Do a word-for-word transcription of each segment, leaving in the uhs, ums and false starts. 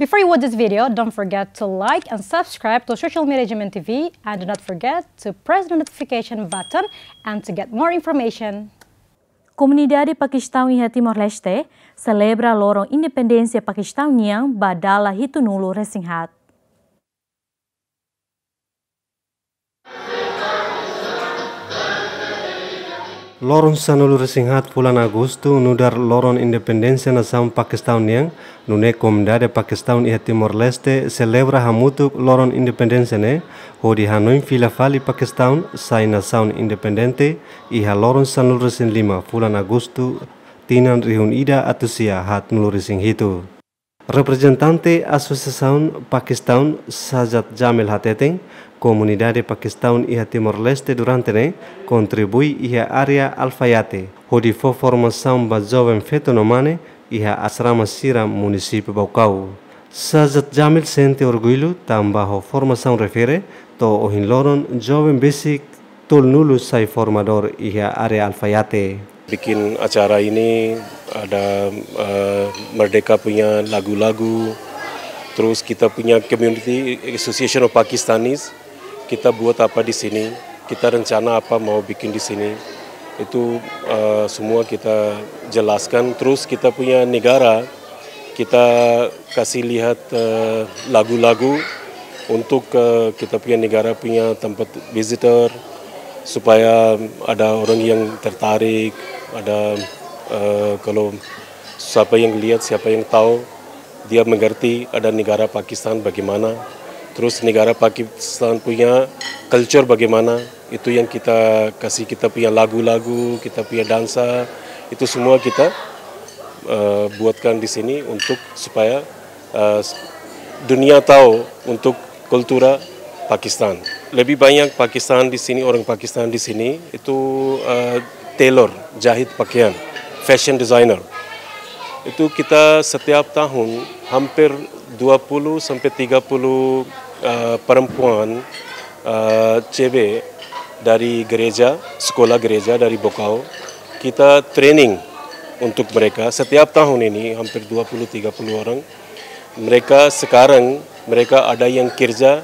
Before you watch this video, don't forget to like and subscribe to social media G M N T V, and do not forget to press the notification button and to get more information. Komunidade Pakistaun iha Timor-Leste selebra loron independénsia Pakistaun nian ba dala hitunulu resin haat. Loron sanulu resin haat fulan Agostu nu'udar loron independénsia nasaun Pakistaun nian, nune'e komunidade Pakistaun iha Timor-Leste selebra hamutuk loron independénsia ne'e, hodi hanoin fila fali Pakistaun sai nasaun independente iha loron sanulu resin lima fulan Agostu tinan rihun ida atus sia haatnulu resin hitu. Reprezentante Asosiasaun Pakistaun Sajjad Jamil hateten, komunidade Pakistaun iha Timor-Leste durante ne'e kontribui iha área Al Fayate, hodi fó formasaun ba joven feto no mane iha asrama sira munisípiu Baucau. Sajjad Jamil sente orgullu tanba ho formasaun refere to'o ohin loron joven besik tolunulu sai formadór iha área Al Fayate. Bikin acara ini ada, eh, Merdeka punya lagu-lagu, terus kita punya Community Association of Pakistanis, kita buat apa di sini, kita rencana apa mau bikin di sini, itu, eh, semua kita jelaskan. Terus kita punya negara, kita kasih lihat, eh, lagu-lagu untuk, eh, kita punya negara punya tempat visitor, supaya ada orang yang tertarik, ada, eh, kalau siapa yang lihat, siapa yang tahu, dia mengerti ada negara Pakistan bagaimana, terus negara Pakistan punya culture bagaimana, itu yang kita kasih, kita punya lagu-lagu, kita punya dansa, itu semua kita, eh, buatkan di sini untuk supaya, eh, dunia tahu untuk kultura Pakistan. Lebih banyak Pakistan di sini, orang Pakistan di sini itu, eh, tailor, jahit pakaian, fashion designer. Itu kita setiap tahun hampir dua puluh sampai tiga puluh, eh, perempuan, eh, cewek dari gereja, sekolah gereja dari Baucau. Kita training untuk mereka. Setiap tahun ini hampir dua puluh tiga puluh orang. Mereka sekarang, mereka ada yang kerja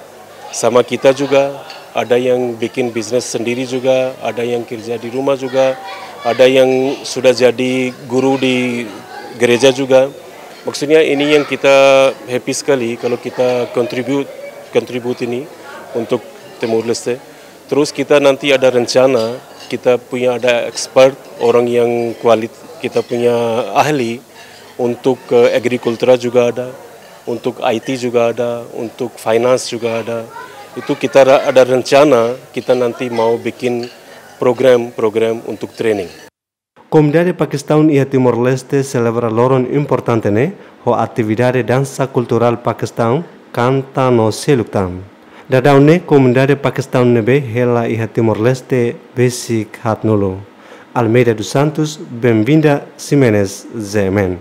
sama kita juga, ada yang bikin bisnis sendiri juga, ada yang kerja di rumah juga, ada yang sudah jadi guru di gereja juga. Maksudnya ini yang kita happy sekali kalau kita contribute, contribute ini untuk Timor Leste. Terus kita nanti ada rencana, kita punya ada expert, orang yang kualit-, kita punya ahli untuk, eh, agrikultura juga ada, untuk I T juga ada, untuk finance juga ada. Itu kita ra-, ada rencana, kita nanti mau bikin program-program untuk training. Komunidade Pakistaun iha Timor-Leste selebra loron importante ne'e ho atividade dansa kulturál Pakistaun, kanta no seluk tan. Daudaun ne'e komunidade Pakistaun ne'ebé hela iha Timor-Leste besik haatnulu. Almeida dos Santos, Benvinda Ximenes, Z M N.